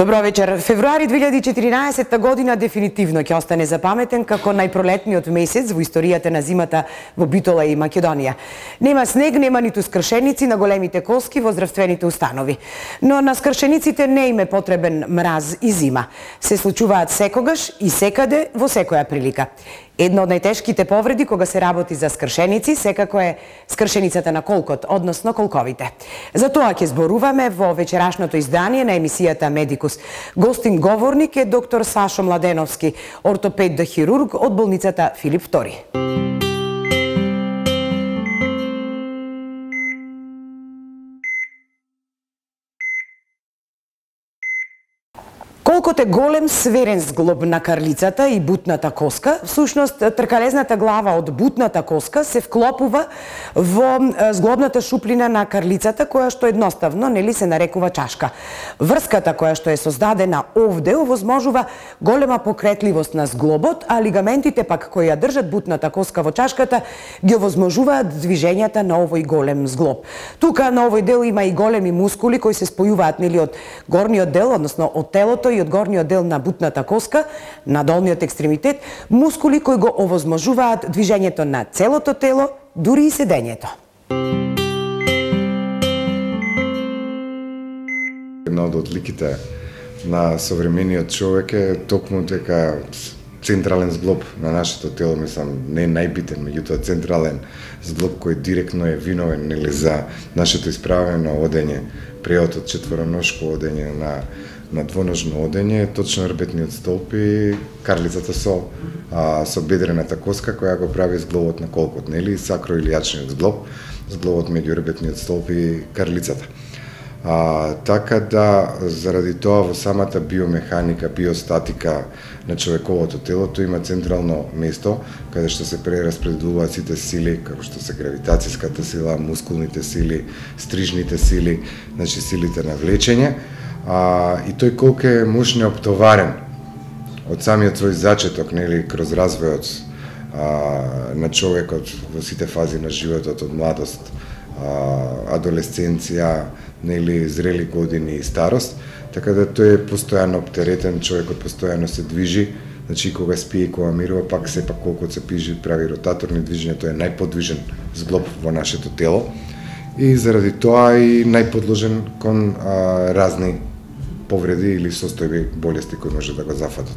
Добро вечер. Февруари 2014 година дефинитивно ќе остане запаметен како најпролетниот месец во историјата на зимата во Битола и Македонија. Нема снег, нема ниту скршеници на големите коски во здравствените установи. Но на скршениците не им е потребен мраз и зима. Се случуваат секогаш и секаде во секоја прилика. Една од најтешките повреди кога се работи за скршеници секако е скршеницата на колкот, односно колковите. За тоа ќе зборуваме во вечерашното издание на емисијата Медикус. Гостин говорник е доктор Сашо Младеновски, ортопед-хирург од болницата Филип II. Колкот е голем сверен зглоб на карлицата и бутната коска, всушност тркалезната глава од бутната коска се вклопува во зглобната шуплина на карлицата, која што едноставно нели се нарекува чашка. Врската која што е создадена овде овозможува голема покретливост на зглобот, а лигаментите пак кои ја држат бутната коска во чашката ги овозможуваат движењата на овој голем зглоб. Тука на овој дел има и големи мускули кои се спојуваат нели од горниот дел, односно од телото и од горниот дел на бутната коска, на долниот екстремитет, мускули кои го овозможуваат движењето на целото тело, дури и седењето. Една од одликите на современиот човек е токму дека централен зглоб на нашето тело, мислам, не е најбитен, меѓутоа централен зглоб кој директно е виновен нели за нашето исправено одење, преотот четвороножко одење на двоножно одење, точно рбетниот столб и карлицата со бедрената коска која го прави зглобот на колкот, нели, сакроилијачниот зглоб, зглобот меѓу рбетниот столб и карлицата. Така да, заради тоа во самата биомеханика, биостатика на човековото телото има централно место каде што се прераспределуваат сите сили, како што се гравитацијската сила, мускулните сили, стрижните сили, значи силите на влечење. И тој колку е мощно оптоварен од самиот свој зачеток, нели, кроз развојот на човекот во сите фази на животот, од младост, адолесценција, нели, зрели години и старост, така да тој е постојано оптеретен, човекот постојано се движи, значи кога спие и кога мирува, пак сепак колку се пижи, прави ротаторни движења, тој е најподвижен зглоб во нашето тело и заради тоа и најподложен кон разни повреди или состојби, болести кои може да го зафатат.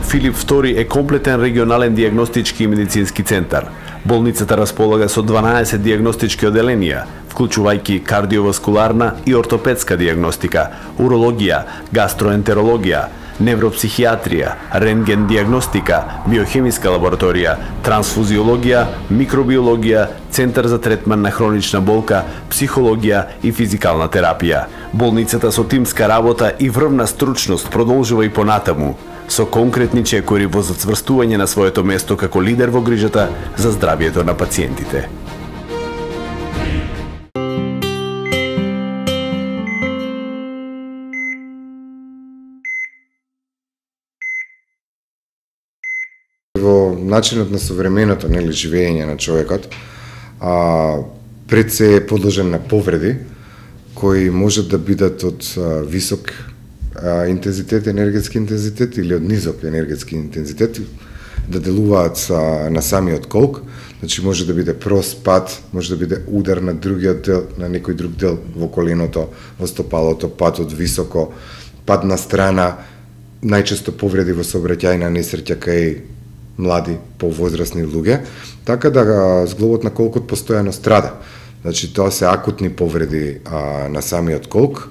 Филип II е комплетен регионален дијагностички и медицински центар. Болницата располага со 12 дијагностички оделенија, вклучувајќи кардиоваскуларна и ортопедска дијагностика, урологија, гастроентерологија, невропсихијатрија, рентген дијагностика, биохемиска лабораторија, трансфузиологија, микробиологија, центар за третман на хронична болка, психологија и физикална терапија. Болницата со тимска работа и врвна стручност продолжува и понатаму, со конкретни чекори во зацврстување на своето место како лидер во грижата за здравието на пациентите. Во начинот на современото, нели, живење на човекот, пред се е подложен на повреди кои можат да бидат од висок интензитет, енергетски интензитет или од низок енергетски интензитет, да делуваат на самиот колк, значи може да биде прост пат, може да биде удар на другиот дел, на некој друг дел во коленото, во стопалото, пат од високо, пат на страна, најчесто повреди во сообраќајна несреќа кај млади, повозрасни луѓе, така да зглобот на колкот постојано страда. Значи тоа се акутни повреди на самиот колк,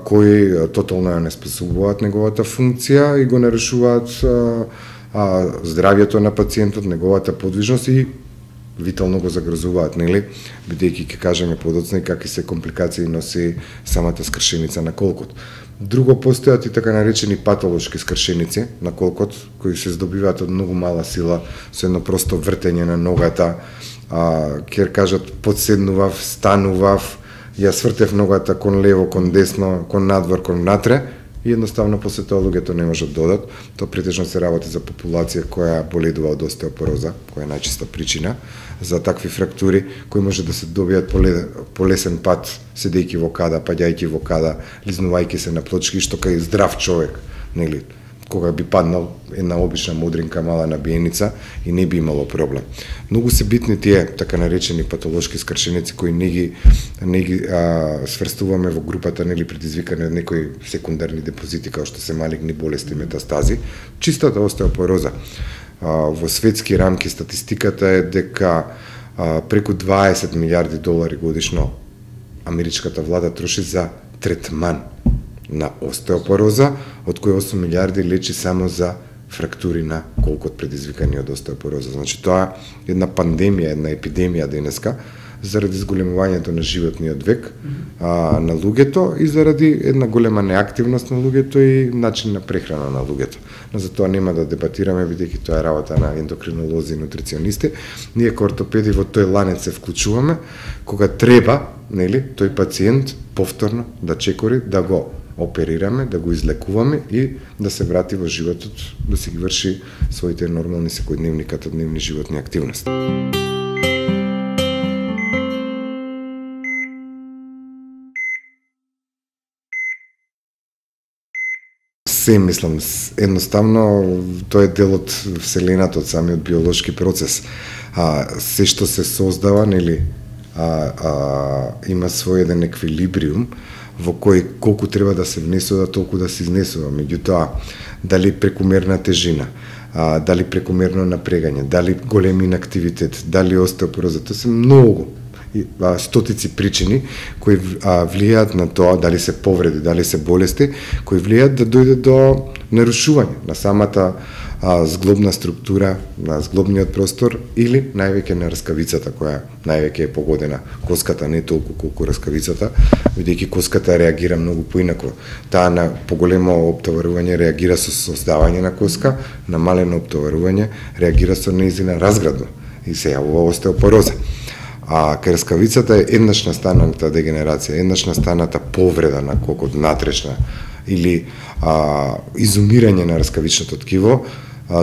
кои тотално ја неспособуваат неговата функција и го нарушуваат здравието на пациентот, неговата подвижност и витално го загрозуваат, нели, бидејќи ќе кажеме подоцна и какви се компликации носи самата скршеница на колкот. Друго, постојат и така наречени патолошки скршеници на колкот, кои се здобиваат од многу мала сила, со едно просто вртење на ногата, ќе кажат подседнував, станував, ја свртев ногата кон лево, кон десно, кон надвор, кон внатре и едноставно после тоа луѓето не можат да одат. Тоа претежно се работи за популација која боледува од остеопороза, која е најчеста причина за такви фрактури, кои може да се добијат по лесен пат, седејќи во када, паѓајќи во када, лизнувајќи се на плочки, што кај здрав човек, нели, кога би паднал една обична мудринка мала набиеница и не би имало проблем. Многу се битни тие така наречени патолошки скршеници кои не ги сврстуваме во групата, нели, предизвикани од некои секундарни депозити како што се малигни болести, метастази, чистата остеопороза. Во светски рамки статистиката е дека преку 20 милиарди долари годишно америчката влада троши за третман на остеопороза, од кои 8 милиарди лечи само за фрактури на колкот предизвикани од остеопороза. Значи тоа е една пандемија, една епидемија денеска заради зголемувањето на животниот век на луѓето и заради една голема неактивност на луѓето и начин на прехрана на луѓето. Но за тоа нема да дебатираме, бидејќи тоа е работа на ендокринолози и нутриционисти. Ние како ортопеди во тој ланец се вклучуваме кога треба, нели, тој пациент повторно да чекори, да го оперираме, да го излекуваме и да се врати во животот, да си ги врши своите нормални секојдневни катодневни животни активности. Се мислам, едноставно тоа е дел од вселената, од самиот биолошки процес. Се што се создава, нели, има свој еден еквилибриум во кој колку треба да се внесува, толку да се изнесува. Меѓутоа, дали прекумерна тежина, дали прекумерно напрегање, дали голем инактивитет, дали остеопороза, тоа се многу стотици причини кои влијаат на тоа, дали се повреди, дали се болести, кои влијаат да дојде до нарушување на самата зглобна структура, на зглобниот простор или највеќе на раскавицата, која највеќе е погодена. Коската не толку колку раскавицата, бидејќи коската реагира многу поинако. Таа на поголемо оптоварување реагира со создавање на коска, на малено оптоварување реагира со нејзина разградба и се јавува остеопороза. Кај раскавицата е еднаш настаната дегенерација, еднаш настаната повреда на кокот натрешна или изумирање на раскавичното ткиво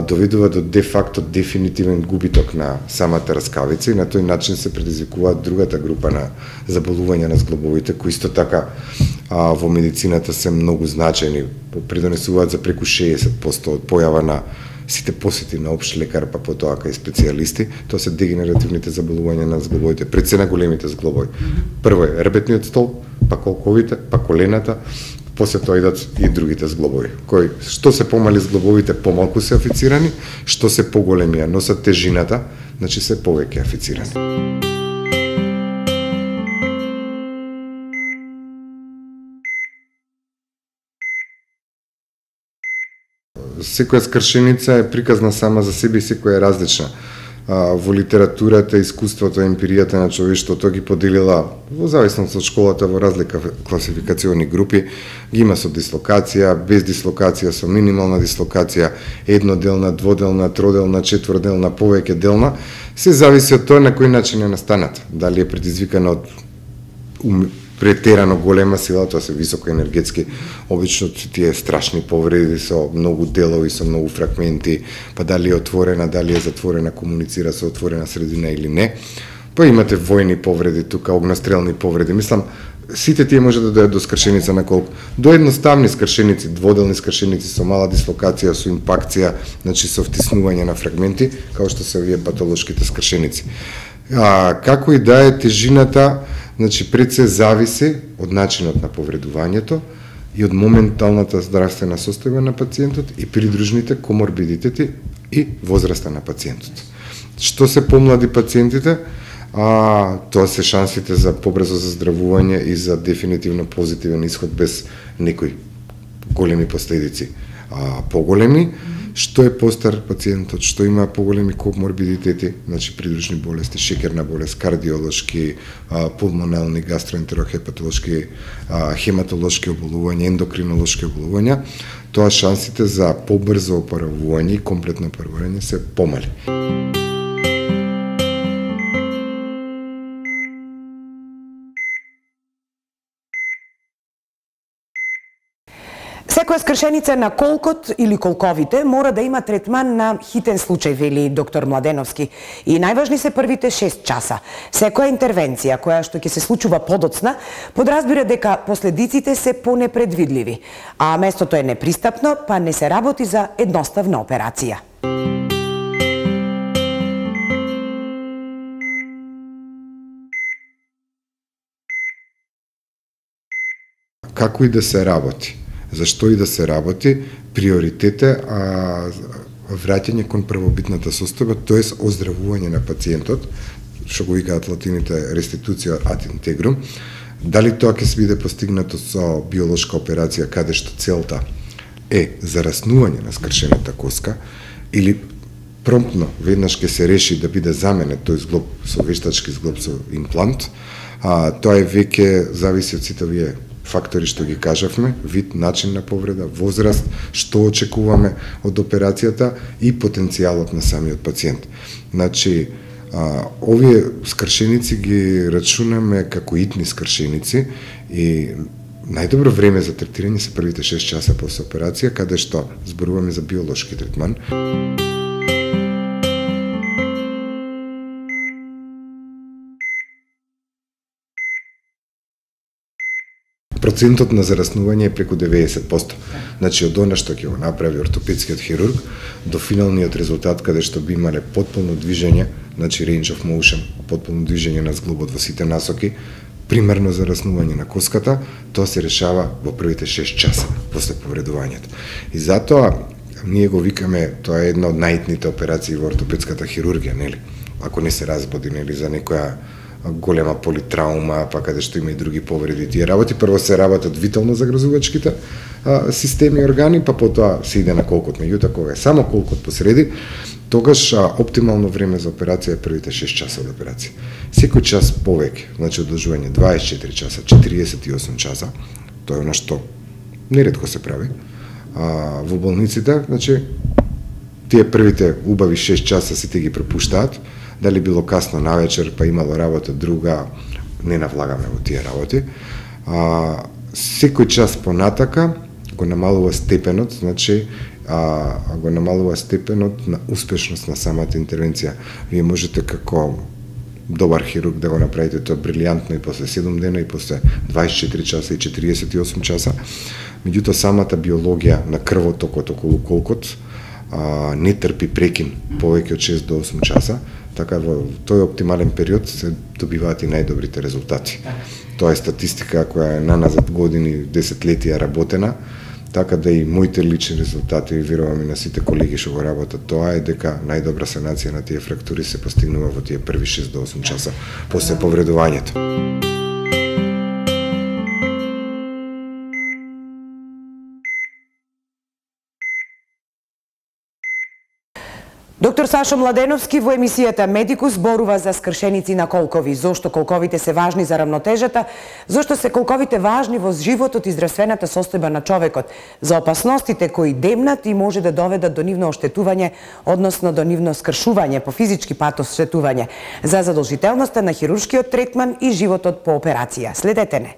доведува до де-факто дефинитивен губиток на самата раскавица и на тој начин се предизвикуваат другата група на заболувања на зглобовите, кои исто така во медицината се многу значајни, придонесуваат за преку 60% од појава на сите посети на општ лекар, па потоа кај специјалисти. Тоа се дегенеративните заболувања на зглобовите, пред се на големите зглобови. Прво е рбетниот столб, па колковите, па колената, после тоа идат и другите зглобови, кои што се помали зглобовите помалку се афицирани, што се поголеми ја носат тежината, значи се повеќе афицирани. Секоја скршеница е приказна сама за себе и секоја е различна. Во литературата, искуството, емпиријата на човештвото ги поделила во зависност од школата во разлика класификациони групи. Ги има со дислокација, без дислокација, со минимална дислокација, едноделна, дводелна, троделна, четворделна, повеќе делна. Се зависи од тоа на кој начин е настаната. Дали е предизвикана од претерано голема сила, тоа се високоенергетски, обично тие страшни повреди со многу делови, со многу фрагменти, па дали е отворена, дали е затворена, комуницира со отворена средина или не. Па имате војни повреди тука, огнестрелни повреди. Мислам, сите тие може да дојдат до скршеница на колку. До едноставни скршеници, дводелни скршеници со мала дислокација, со импакција, значи со втиснување на фрагменти, како што се овие патолошките скршеници. Како и да е тежината, значи пред се зависи од начинот на повредувањето и од моменталната здравствена состојба на пациентот и придружните коморбидитети и возраста на пациентот. Што се помлади пациентите, тоа се шансите за побрзо заздравување и за дефинитивно позитивен исход без некои големи последици. Поголеми, што е постар пациентот, што има поголеми коморбидитети, значи придружни болести, шекерна болест, кардиолошки, пулмонални, гастроентерохепатолошки, хематолошки оболувања, ендокринолошки оболувања, тоа шансите за побрзо опоравување и комплетно опоравување се помали. Секоја скршеница на колкот или колковите мора да има третман на хитен случај, вели доктор Младеновски. И најважни се првите 6 часа. Секоја интервенција која што ќе се случува подоцна, подразбира дека последиците се понепредвидливи, а местото е непристапно, па не се работи за едноставна операција. Како и да се работи, зашто и да се работи, приоритет е враќање кон првобитната состојба, тоест оздравување на пациентот, што го викаат латините реституција ad integrum. Дали тоа ќе се биде постигнато со биолошка операција, каде што целта е зараснување на скршената коска, или промптно веднаш ќе се реши да биде заменет тој зглоб со вештачки зглоб со имплант, тоа е веќе зависи од сите овие фактори што ги кажавме, вид, начин на повреда, возраст, што очекуваме од операцијата и потенцијалот на самиот пациент. Значи, овие скршеници ги рачунаме како итни скршеници и најдобро време за третирање се првите 6 часа после операција, каде што зборуваме за биолошки третман. Процентот на зараснување е преку 90%. Значи, од она што ќе го направи ортопедскиот хирург, до финалниот резултат, каде што би имале потполно движење, значи range of motion, потполно движење на зглобот во сите насоки, примерно зараснување на коската, тоа се решава во првите 6 часа после повредувањето. И затоа, ние го викаме, тоа е една од најитните операции во ортопедската хирургија, нели? Ако не се разбоди, нели, за некоја голема политраума, па каде што има и други повреди. Тие работи прво се работат витално загрозувачките системи и органи, па потоа се иде на колкот. Меѓутоа, кога е само колкот посреди, тогаш оптимално време за операција е првите 6 часа од операција. Секој час повеќе, значи одложување 24 часа, 48 часа, тоа е она што неретко се прави во болниците, значи тие првите убави 6 часа сите ги пропуштаат. Дали било касно навечер, па имало работа друга, не навлагаме во тие работи. Секој час понатака го намалува степенот, значи го намалува степенот на успешност на самата интервенција. Вие можете како добар хирург да го направите тоа брилијантно и после 7 дена, и после 24 часа и 48 часа. Меѓутоа, самата биологија на крвотокот околу колкот не трпи прекин повеќе од 6 до 8 часа, така во тој оптимален период се добиваат и најдобрите резултати. Тоа е статистика која е наназад години, десетлетија работена, така да и моите лични резултати, верувам и на сите колеги што го работат, тоа е дека најдобра санација на тие фрактури се постигнува во тие први 6 до 8 часа после повредувањето. Доктор Сашо Младеновски во емисијата Медикус зборува за скршеници на колкови, зошто колковите се важни за рамнотежата, зошто се колковите важни во животот и здравствената состојба на човекот, за опасностите кои демнат и може да доведат до нивно оштетување, односно до нивно скршување по физички пат оштетување, за задолжителноста на хируршкиот третман и животот по операција. Следете не.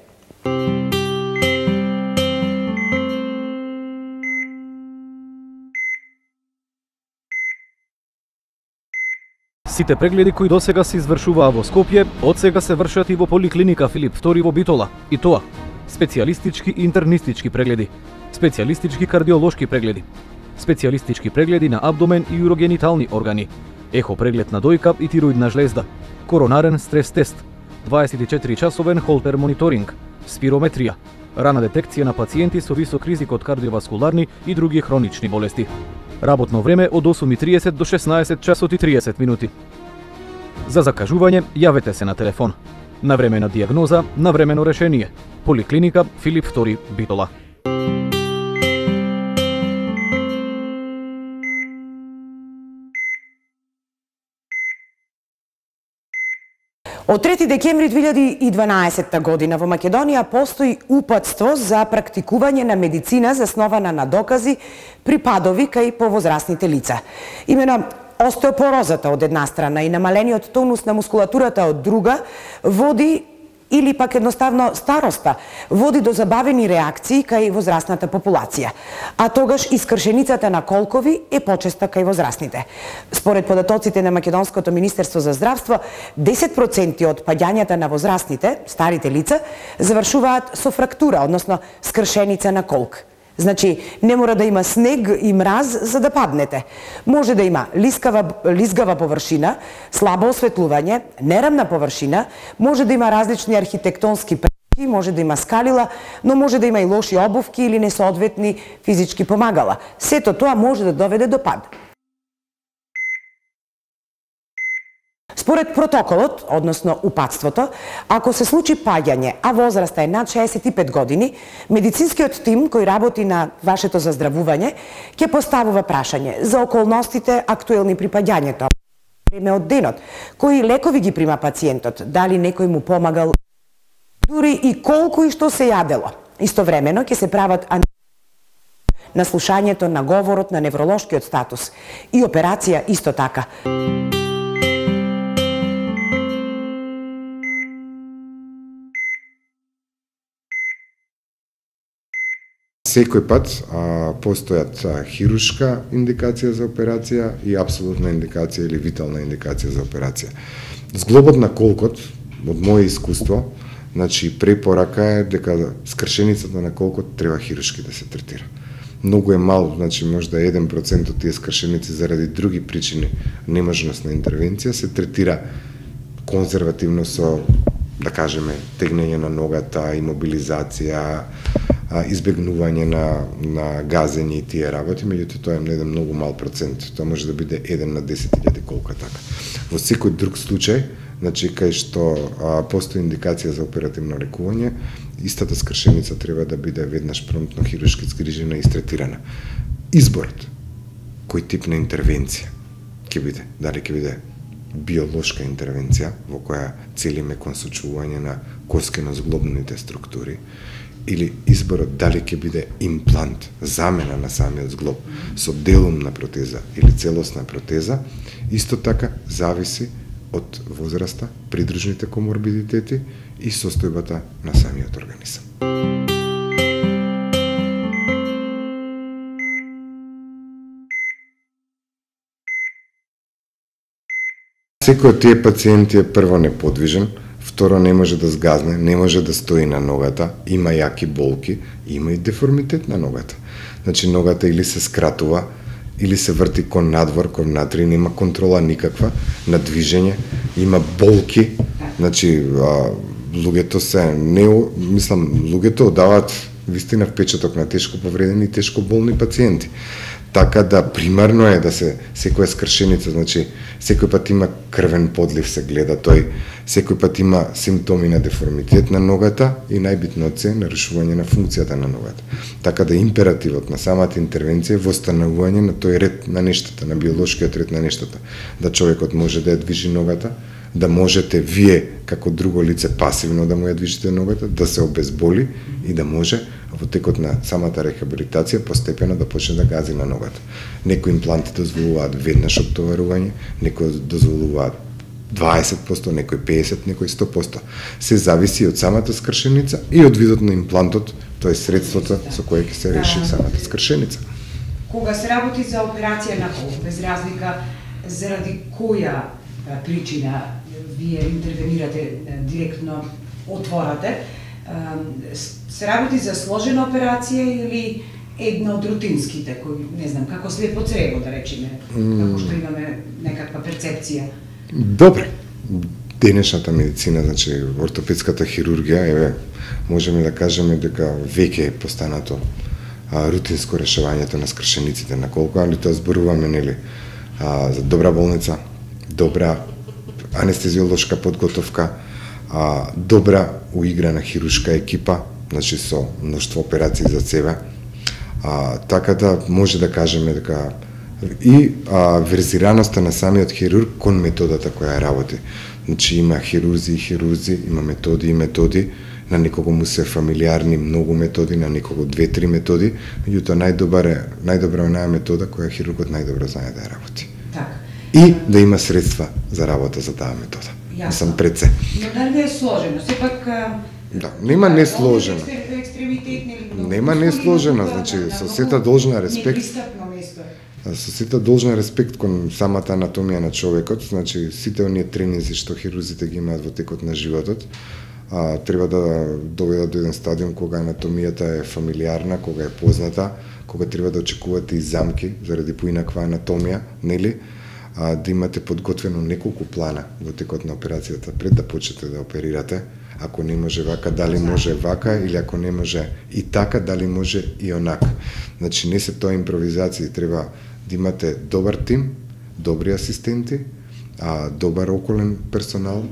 Сите прегледи кои досега се извршуваа во Скопје, од сега се вршат и во поликлиника Филип II во Битола. И тоа: специјалистички интернистички прегледи, специјалистички кардиолошки прегледи, специјалистички прегледи на абдомен и урогенитални органи, ехо преглед на дојка и тироидна жлезда, коронарен стрес тест, 24-часовен холтер мониторинг, спирометрија, рана детекција на пациенти со висок ризик од кардиоваскуларни и други хронични болести. Работно време од 8:30 до 16 часот и 30 минути. За закажување јавете се на телефон. Навремена дијагноза, навремено решение. Поликлиника Филип II Битола. Од 3 декември 2012 година во Македонија постои упатство за практикување на медицина заснована на докази при падови кај повозрасните лица. Имено остеопорозата од една страна и намалениот тонус на мускулатурата од друга води или пак едноставно староста води до забавени реакции кај возрастната популација, а тогаш и скршеницата на колкови е почеста кај возрастните. Според податоците на Македонското министерство за здравство, 10% од паѓањата на возрастните, старите лица, завршуваат со фрактура, односно скршеница на колк. Значи, не мора да има снег и мраз за да паднете. Може да има лизгава површина, слабо осветлување, неравна површина, може да има различни архитектонски пречки, може да има скалила, но може да има и лоши обувки или несоодветни физички помагала. Сето тоа може да доведе до пад. Според протоколот, односно упатството, ако се случи паѓање, а возраста е над 65 години, медицинскиот тим кој работи на вашето заздравување ќе поставува прашање за околностите актуелни при паѓањето, време од денот, кои лекови ги прима пациентот, дали некој му помагал, дури и колку и што се јадело. Истовремено ќе се прават на слушањето на говорот на невролошкиот статус и операција исто така. Секој пат постојат хируршка индикација за операција и апсолутна индикација или витална индикација за операција. Зглобот на колкот, од моје искуство, значи препорака е дека скршеницата на колкот треба хируршки да се третира. Многу е мал, значи можда 1% од тие скршеници заради други причини, неможност на интервенција, се третира конзервативно со, да кажеме, тегнење на ногата, имобилизација, избегнување на газење и тие работи, меѓуто тоа е еден многу мал процент. Тоа може да биде 1 на 10.000 колка така. Во секој друг случај, значи кај што постои индикација за оперативно лекување, истата скршеница треба да биде веднаш промптно хируршки згрижена и истретирана. Изборот кој тип на интервенција ќе биде, дали ќе биде биолошка интервенција во која целиме консочување на коскено-зглобните структури, или изборот дали ќе биде имплант, замена на самиот зглоб со делумна протеза или целосна протеза, исто така зависи од возраста, придружните коморбидитети и состојбата на самиот организам. Секој од тие пациенти е прво неподвижен, второ не може да згазне, не може да стои на ногата, има јаки болки, има и деформитет на ногата. Значи ногата или се скратува, или се врти кон надвор, кон внатре, нема контрола никаква на движење, има болки, значи луѓето се луѓето одаваат вистина впечаток на тешко повредени и тешко болни пациенти. Така да примарно е да се секоја скршеница, значи секој пат има крвен подлив се гледа тој, секој пат има симптоми на деформитет на ногата и најбитното е нарушување на функцијата на ногата. Така да императивот на самата интервенција е востанавување на тој ред на нештата, на биолошкиот ред на нештата, да човекот може да ја движи ногата, да можете вие како друго лице пасивно да му ја движите ногата, да се обезболи и да може во текот на самата рехабилитација постепено да почне да гази на ногата. Некои импланти дозволуваат веднаш оптоварување, некои дозволуваат 20%, некои 50%, некои 100%. Се зависи од самата скршеница и од видот на имплантот, тоа е средството со кое ќе се реши самата скршеница. Кога се работи за операција на колк, без разлика заради која причина вие интервенирате директно, отворате, се работи за сложена операција или една од рутинските, кои, не знам, како слепо црево, да речеме, како што имаме некаква перцепција? Добре. Денешната медицина, значи ортопедската хирургија, можеме да кажеме дека веќе е постанато рутинско решавањето на скршениците на колко, али тоа зборуваме, нели, за добра болница, добра анестезиолошка подготовка, добра уиграна хируршка екипа, значи со мноштво операции за себе, така да може да кажеме дека и верзираноста на самиот хирург кон методата која работи. Значи има хирурзи, има методи, на некого му се фамилиарни многу методи, на некого 2-3 методи, меѓутоа најдобра е метода која хирургот најдобро знае да ја работи. Так. И да има средства за работа за таа метода. Мислам пред се. Но дали е сложено? Сепак Да, нема несложено. Екстремитет нели? Нема несложено, значи со сета должна респект. Со сета должна респект кон самата анатомија на човекот, значи сите оние тренинзи што хирурзите ги имаат во текот на животот, треба да доведат до еден стадиум кога анатомијата е фамилиарна, кога е позната, кога треба да очекувате и замки заради поинаква анатомија, нели? Да имате подготвено неколку плана во текот на операцијата пред да почнете да оперирате. Ако не може вака, дали може вака, или ако не може и така, дали може и онака. Значи не се тоа импровизација, треба да имате добар тим, добри асистенти, добар околен персонал,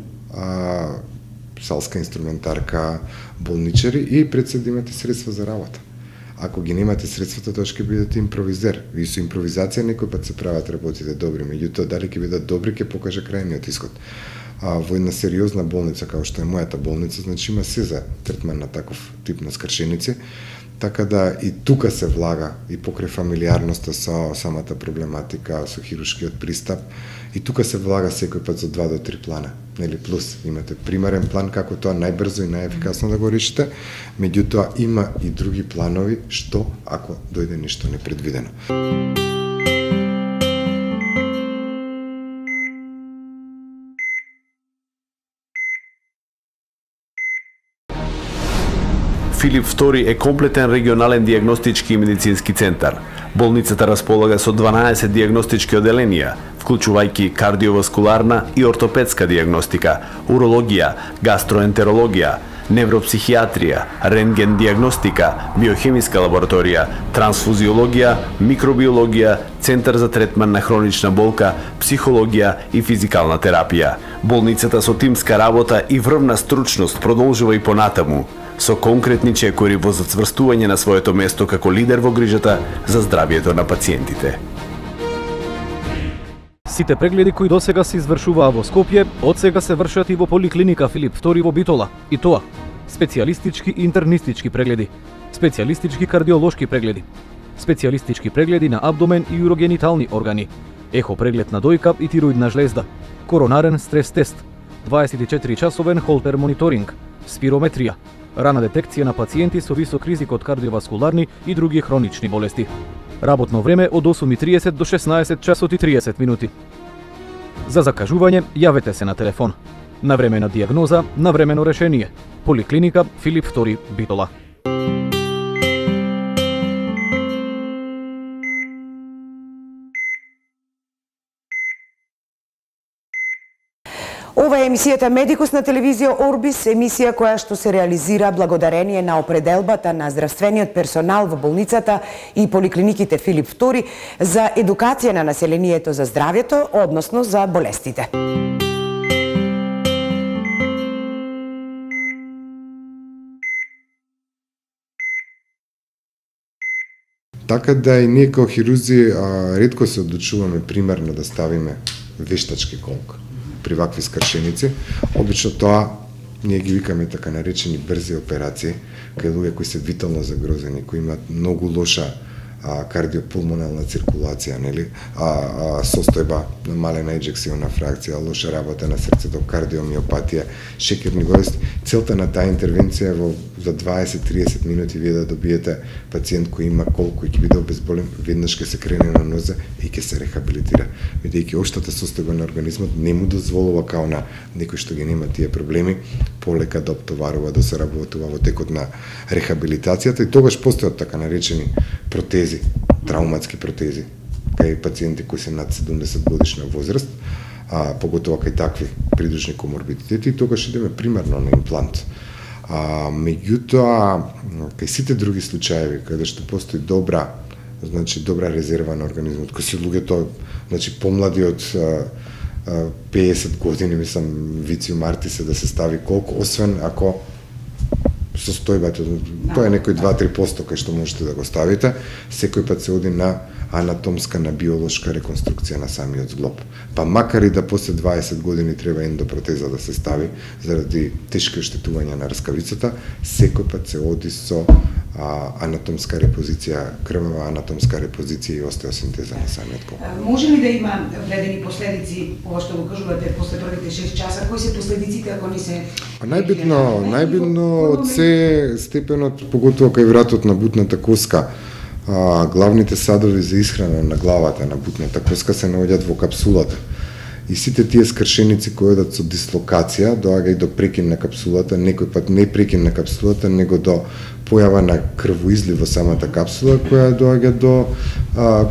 салска инструментарка, болничари и пред се да имате средства за работа. Ако ги немате средствата, тоа ќе бидете импровизер. И со импровизација некој пат се прават работите добри, меѓутоа дали ќе бидат добри ќе покаже крајниот исход. Во една сериозна болница, како што е мојата болница, значи има се за третман на таков тип на скршеници, така да и тука се влага и покрај фамилиарноста со самата проблематика, со хируршкиот пристап, и тука се влага секој пат за 2 до 3 плана, нели плюс имате примерен план како тоа најбрзо и најефикасно да го решите, меѓутоа има и други планови што ако дојде нешто непредвидено. Филип II е комплетен регионален дијагностички и медицински центар. Болницата располага со 12 дијагностички оделенија, вклучувајќи кардиоваскуларна и ортопедска дијагностика, урологија, гастроентерологија, невропсихијатрија, рентген дијагностика, биохемиска лабораторија, трансфузиологија, микробиологија, центар за третман на хронична болка, психологија и физикална терапија. Болницата со тимска работа и врвна стручност продолжува и понатаму, со конкретни чекори во зацврстување на своето место како лидер во грижата за здравието на пациентите. Сите прегледи кои досега се извршуваа во Скопје, од сега се вршат и во поликлиника Филип II во Битола. И тоа, специјалистички интернистички прегледи, специјалистички кардиолошки прегледи, специјалистички прегледи на абдомен и урогенитални органи, ехо преглед на дојка и тироидна жлезда, коронарен стрес тест, 24-часовен холтер мониторинг, спирометрија, рана детекција на пациенти со висок ризик од кардиоваскуларни и други хронични болести. Работно време од 8:30 до 16 часот и 30 минути. За закажување јавете се на телефон. Навремена дијагноза, навремено решение. Поликлиника Филип II Битола. Ова е емисијата Медикус на телевизија Орбис, емисија која што се реализира благодарение на определбата на здравствениот персонал во болницата и поликлиниките Филип II за едукација на населението за здравјето, односно за болестите. Така да и ние како хирурзи ретко се одлучуваме примерно да ставиме вештачки колк при вакви скршеници. Обично тоа ние ги викаме така наречени брзи операции, кај луѓе кои се витално загрозени, кои имаат многу лоша кардиопулмонална циркулација, нели? Состојба на малена еджексионна фракција, лоша работа на срцето, кардиомиопатија, шекерни болести. Целта на таа интервенција е за 20-30 минути вие да добиете пациент кој има колку и ќе биде обезболен, веднаш ќе се крене на нозе и ќе се рехабилитира. Бидејќи општата состојба на организмот не му дозволува као на некој што ги нема тие проблеми, полека да оптоварува, да се работува во текот на рехабилитацијата и тогаш постојат така наречени протези, трауматски протези, кај пациенти кои се над 70 годишна возраст, поготоа кај такви придружни коморбидитети, и тогаш идеме примерно на имплант. Меѓутоа, кај сите други случаеви, каде што постои добра резерва на организмот, кои се луѓето, помлади од 50 години, мислам, вициум артис да се стави колку, освен ако состојбата, тоа е некој 2-3% кај што можете да го ставите, секој пат се оди на анатомска, на биолошка реконструкција на самиот зглоб. Па макар и да после 20 години треба ендопротеза да се стави заради тешки оштетувања на раскавицата, секој пат се оди со анатомска репозиција, крвава анатомска репозиција и остеосинтеза на самиот колк. Може ли да има вредени последици, ова што го кажувате, после првите 6 часа, кои се последиците ако не се... Најбитно од се степенот, поготово кај вратот на бутната коска, главните садови за исхрана на главата на бутната коска се наоѓаат во капсулата. И сите тие скршеници кои одат со дислокација доаѓа и до прекин на капсулата, некој пат не прекин на капсулата, него до појава на крвоизлив во самата капсула која доаѓа до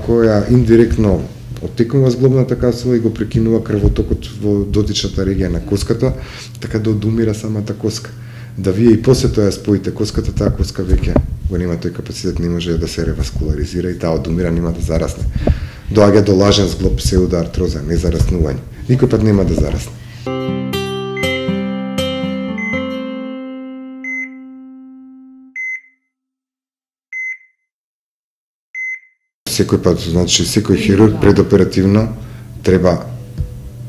која индиректно оттекнува зглобната капсула и го прекинува крвотокот во дотичната регија на коската, така да одумира самата коска. Да вие и после тоа споите коската, таа коска веќе го нема тој капацитет, не може да се реваскуларизира и таа одумира, нема да зарасне. Доаѓа до лажен зглоб, псевдоартроза, не зараснување. Никој пат нема да зарасне. Секој пат, значи, секој хирург предоперативно треба,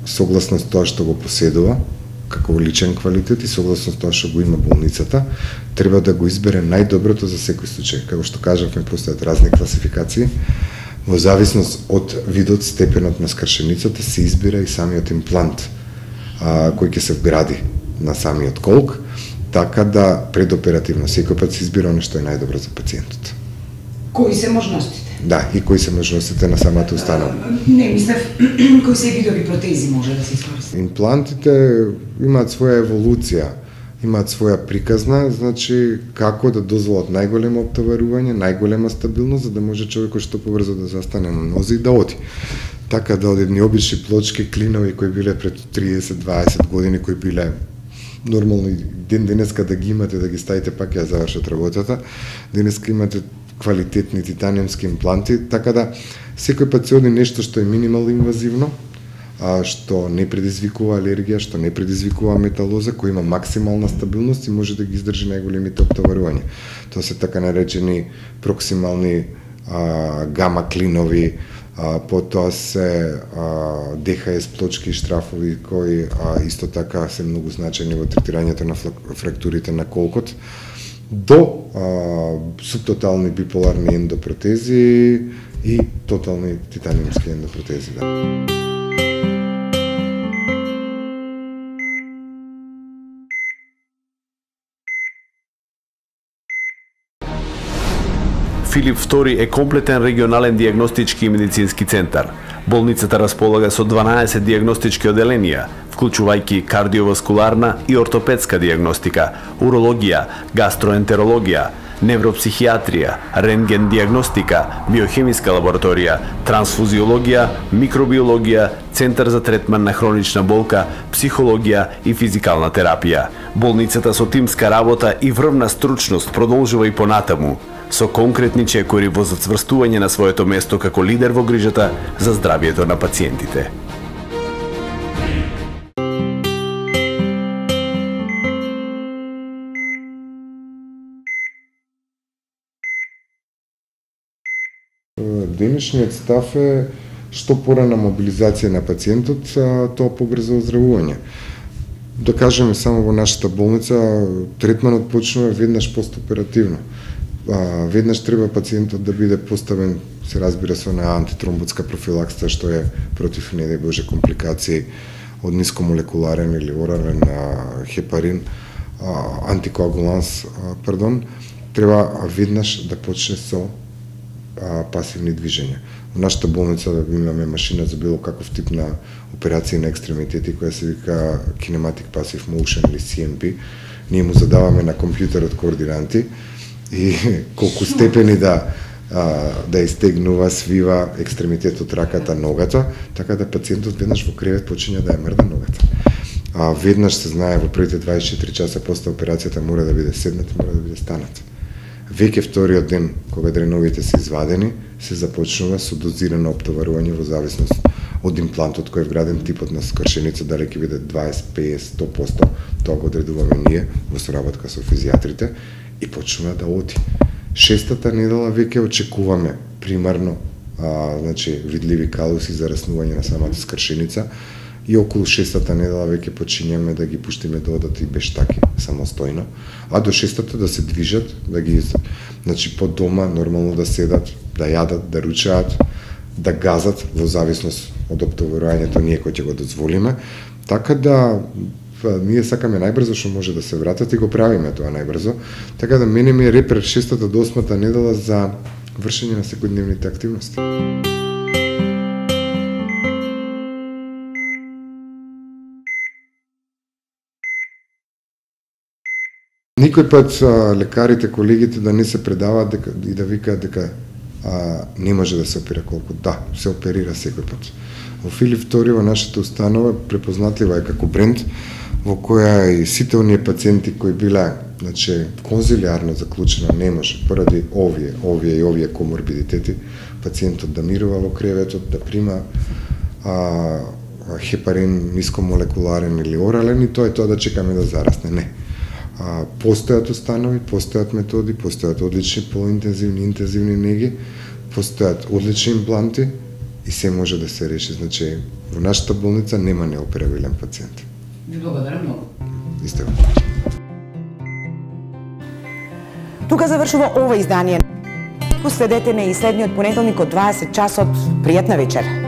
согласно тоа што го поседува, како личен квалитет и согласно тоа што го има болницата, треба да го избере најдоброто за секој случај. Како што кажавме, постојат разни класификации. Во зависност од видот, степенот на скршеницата се избира и самиот имплант кој ќе се вгради на самиот колк, така да предоперативно секој пат се избира оно што е најдобро за пациентот. Кои се можностите? Да, и кои се можностите на самата установа. Не, мислев, кои се видови протези може да се искористи? Имплантите имаат своја еволуција, имаат своја приказна, значи како да дозволат најголемо оптоварување, најголема стабилност, за да може човекот што побрзо да застане на нозе и да оди. Така да од едни обични плочки, клинови кои биле пред 30-20 години, кои биле нормално и денеска да ги имате, да ги ставите, пак ја завршат работата, денеска имате квалитетни титаниумски импланти, така да секој пат се оди нешто што е минимално инвазивно, што не предизвикува алергија, што не предизвикува металоза, кој има максимална стабилност и може да ги издржи најголемите оптоварувања. Тоа се така наречени проксимални гама клинови, потоа се ДХС плочки и штрафови кои исто така се многу значајни во третирањето на фрактурите на колкот, до субтотални биполарни ендопротези и тотални титаниумски ендопротези. Да. Филип II е комплетен регионален дијагностички и медицински центар. Болницата располага со 12 дијагностички оделенија, вклучувајќи кардиоваскуларна и ортопедска дијагностика, урологија, гастроентерологија, невропсихијатрија, рентген дијагностика, биохемиска лабораторија, трансфузиологија, микробиологија, центар за третман на хронична болка, психологија и физикална терапија. Болницата со тимска работа и врвна стручност продолжува и понатаму, со конкретни чекори во зацврстување на своето место како лидер во грижата за здравието на пациентите. Денешниот став е што порана мобилизација на пациентот, тоа побрзо оздравување. Да кажеме, само во нашата болница третманот почнува веднаш постоперативно. Веднаш треба пациентот да биде поставен, се разбира, со на антитромботска профилакса, што е против, не дај Боже, компликации од нискомолекуларен или орален хепарин, антикоагуланс, треба веднаш да почне со пасивни движења. Во нашата болница имаме машина за било каков тип на операции на екстремитети, која се вика Kinematic Passive Motion или CMP. Ние му задаваме на компјутерот координати и колку степени да истегнува, свива екстремитетот, раката, ногата, така да пациентот веднаш во кревет почиња да ја мрда ногата. Веднаш се знае во првите 24 часа после операцијата мора да биде седнат и мора да биде станат. Веќе вториот ден, кога дреновите се извадени, се започнува со дозирано оптоварување во зависност од имплантот кој е вграден, типот на скршеница, дали ќе биде 20, 50, 100%, тоа го одредуваме ние во соработка со физијатрите и почнува да оди. Шестата недела веќе очекуваме примарно видливи калуси за раснување на самата скршеница и околу 6-та недела веќе почињаме да ги пуштиме да одат и бештаки самостојно, а до 6-та да се движат, да ги значи по дома нормално да седат, да јадат, да ручаат, да газат во зависност од оптоварувањето ние кој ќе го дозволиме, така да ние сакаме најбрзо што може да се вратат и го правиме тоа најбрзо, така да мене ми е репер 6-та до 8-та недела за вршење на секојдневните активности. Никој пат лекарите, колегите да не се предаваат и да викаат дека не може да се опера колку. Да, се оперира секој пат. Во Филип II во нашата установа препознатлива е како бренд во која и сите оние пациенти кои биле, значи, конзилиарно заклучено не може поради овие коморбидитети, пациентот да мирува во креветот, да прима хепарин нискомолекуларен или орален и тоа е тоа да чекаме да зарасне. Не. Постојат установи, постојат методи, постојат одлични поинтензивни, интензивни неги, постојат одлични импланти и се може да се реши. Значи, во нашата болница нема неоперабилен пациент. Ви благодарам многу. Исто. Тука завршува ова издание. Следете не и следниот понеделник од 20 часот. Пријатна вечер.